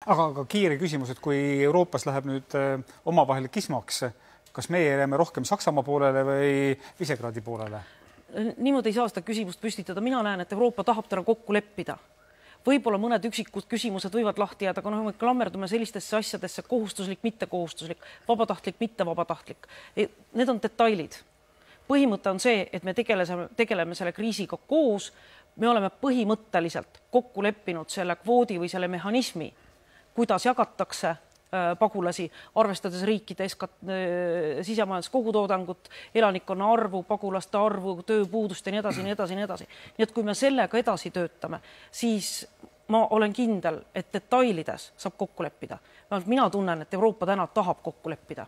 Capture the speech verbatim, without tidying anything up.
Aga, aga kiire küsimus, et kui Euroopas läheb nüüd omavahel kismaks, kas meie jääme rohkem Saksamaa poolele või Visegradi poolele? Niimoodi ei saa seda küsimust püstitada. Mina näen, et Euroopa tahab täna kokku leppida. Võib-olla mõned üksikud küsimused võivad lahti jääda, aga noh, me klammerdume sellistesse asjadesse kohustuslik, mitte kohustuslik, vabatahtlik, mitte vabatahtlik. Need on detailid. Põhimõte on see, et me tegeleme, tegeleme selle kriisiga koos. Me oleme põhimõtteliselt kokku leppinud selle kvoodi või selle mehhanismi, kuidas jagatakse pagulasi, arvestades riikide sisemajandus kogutoodangut, elanikkonna arvu, pagulaste arvu, tööpuudust ja nii edasi, nii edasi, nii edasi. Nii et kui me sellega edasi töötame, siis ma olen kindel, et detailides saab kokku leppida. Mina tunnen, et Euroopa täna tahab kokku leppida.